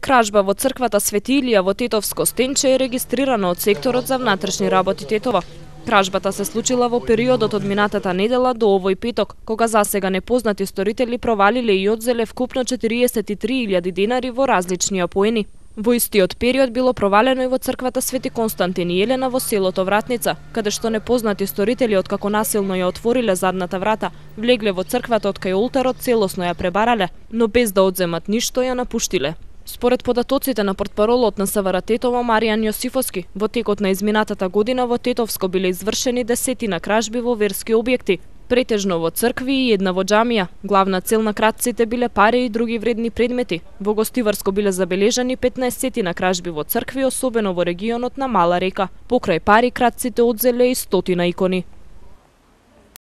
Кражба во црквата Свети Илија во Тетовско Стенче е регистрирана од секторот за внатрешни работи Тетово. Кражбата се случила во периодот од минатата недела до овој петок, кога засега непознати сторители провалиле и одзеле вкупно 43.000 денари во различни поени. Во истиот период било провалено и во црквата Свети Константин и Елена во селото Вратница, каде што непознати сторители откако насилно ја отвориле задната врата, влегле во црквата од кај олтарот, целосно ја пребарале, но без да одземат ништо ја напуштиле. Според податоците на портпаролот на СВР Тетово Маријан Јосифовски, во текот на изминатата година во Тетовско биле извршени десетина кражби во верски објекти, претежно во цркви и една во џамија. Главна цел на кратците биле пари и други вредни предмети. Во Гостиварско биле забележани 15 кражби во цркви, особено во регионот на Мала река. Покрај пари кратците одзеле и 100 икони.